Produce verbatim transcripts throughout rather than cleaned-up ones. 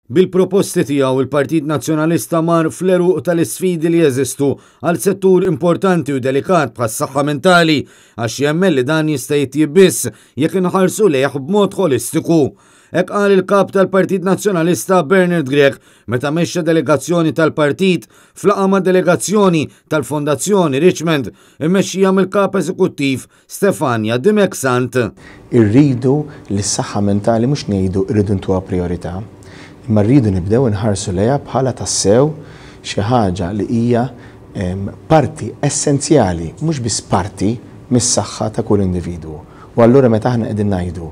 Bil-proposti tiegħu, il-Partit Nazzjonalista mar fl-għeruq tal-isfidi li jeżistu għal settur importanti u delikat bħas-saħħa mentali, għax jemmen li dan jista' jitjieb biss jekk inħarsu lejh b'mod holistiku. Hekk qal il-kap tal-Partit Nazzjonalista Bernard Grech meta mexxa delegazzjoni tal-partit f'laqgħa ma' delegazzjoni tal-Fondazzjoni Richmond immexxija mill-kap eżekuttiv Stefania Dimech Sant. Irridu li s-saħħa mentali mhux ngħidu rridu ntuha priorità, imma rridu nibdew inħarsu lejha bħala tassew xi ħaġa li hija parti essenzjali, mhux biss parti mis-saħħa ta' kull individwu. U allura meta aħna qegħdin ngħidu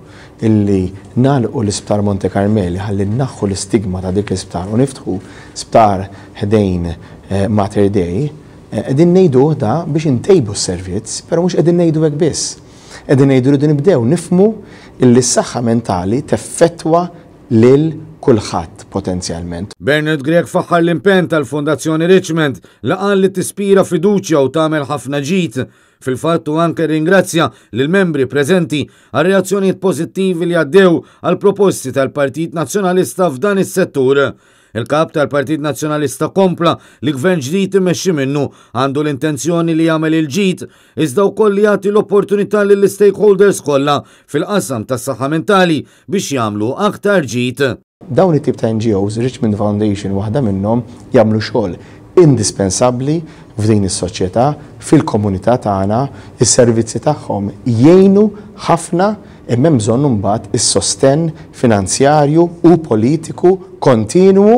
illi nagħlqu l-Isptar Monte Carmeli ħalli naħħu l-istigma ta' dik l-isptar u niftħu sptar ħdejn eh, Mater Dei, eh, qegħdin ngħidu da biex intejbu s-servizz, però mhux qegħdin ngħidu hekk biss. Qegħdin ngħidu rridu nibdew nifhmu illi s-saħħa mentali teffettwa lil kulħadd potenzjalment. Bernard Grech faħħar l-impenn tal-Fondazzjoni Richmond li qal li tispira fiduċja u tagħmel ħafna ġid. Fil-fatt hu anke ringrazzja lill-membri preżenti għal reazzjonijiet pożittivi li għaddew għal proposti tal-Partit Nazzjonalista f'dan is-settur. Il-kap tal-Partit Nazzjonalista kompla li gvern ġdid immexxi minnu għandu l-intenzjoni li jagħmel il-ġid, iżda wkoll li jagħti l-opportunità lill-stakeholders kollha fil-qasam tas-saħħa mentali biex jagħmlu aktar ġid. Dawn it-tip ta' N G Os, Richmond Foundation waħda minnhom, jagħmlu xogħol indispensabbli f'din is-soċjetà, fil-komunità tagħna, is-servizzi tagħhom jgħinu ħafna, imma hemm bżonn imbagħad is-sostenn finanzjarju u politiku kontinwu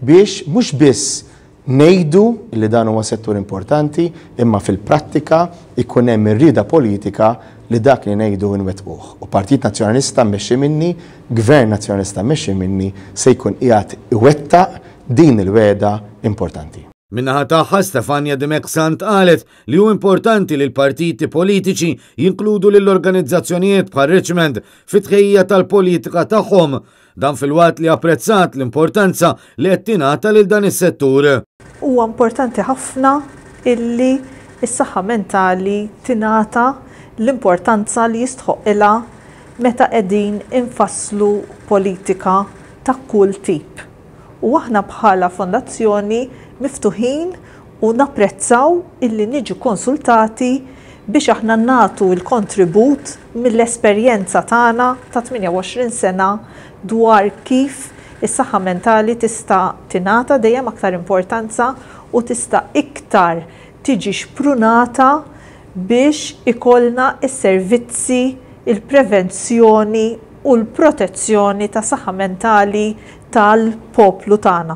biex mhux biss ngħidu li dan huwa settur importanti, imma fil-prattika ikun hemm ir-rieda politika li dak li ngħidu nwettquh. U Partit Nazzjonalista mmexxi minni, Gvern Nazzjonalista mmexxi minni, se jkun qiegħed iwettaq din il-wegħda importanti. Min-naħa tagħha, Stefania Dimech Sant qalet li hu importanti li l-partiti politiċi jinkludu lill-organizzazzjonijiet bħal Richmond fit-tħejjija tal-politika tagħhom. Dan filwaqt li apprezzat l-importanza li qed tingħata lil dan is-settur. Huwa importanti ħafna illi s-saħħa mentali tingħata l-importanza li jistħoqilha meta qegħdin infasslu politika ta' kull tip. U aħna bħala fondazzjoni miftuħin u napprezzaw illi niġu konsultati biex aħna nagħtu il-kontribut mill-esperjenza tagħna ta' tmienja u għoxrin sena dwar kif is-saħħa mentali tista' tingħata dejjem aktar importanza u tista' iktar tiġi xprunata biex ikollna is-servizzi, il-prevenzjoni u l-protezzjoni ta' saħħa mentali tal-poplu tagħna.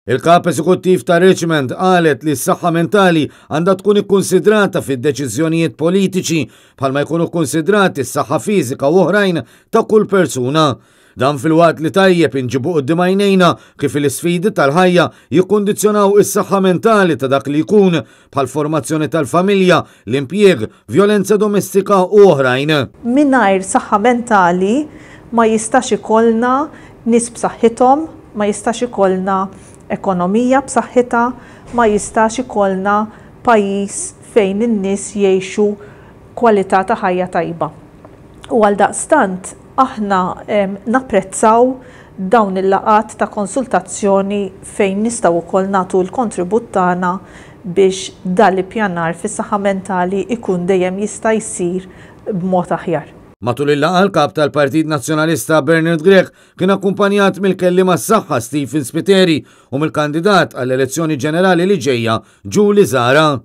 Il-kap eżekuttiv ta' Richmond qalet li s-saħħa mentali għandha tkun ikkonsidrata fid-deċiżjonijiet politiċi bħalma jkunu kkonsidrati s-saħħa fiżika u oħrajn ta' kull persuna. Dan filwaqt li tajjeb inġibu quddiem għajnejna kif l-isfidi tal-ħajja jikkondizzjonaw is-saħħa mentali ta' dak li jkun, bħal formazzjoni tal-familja, l-impjieg, vjolenza domestika u oħrajn. Mingħajr saħħa mentali ma jistax ikollna nies b'saħħithom, ma jistax ikollna ekonomija b'saħħitha, ma jistax ikollna pajjiż fejn in-nies jgħixu kwalità ta' ħajja tajba. U għal daqstant aħna napprezzaw dawn il-laqgħat ta' konsultazzjoni fejn nistgħu wkoll nagħtu l-kontribut tagħna biex dal-ippjanar fis-saħħa mentali ikun dejjem jista' jsir b'mod aħjar. Matul il-laqgħa, l-kap tal-Partit Nazzjonalista Bernard Grech kien akkumpanjat mill-kelliem għas-saħħa Stephen Spiteri u mill-kandidat għall-elezzjoni ġenerali li ġejja, Julie Zahra.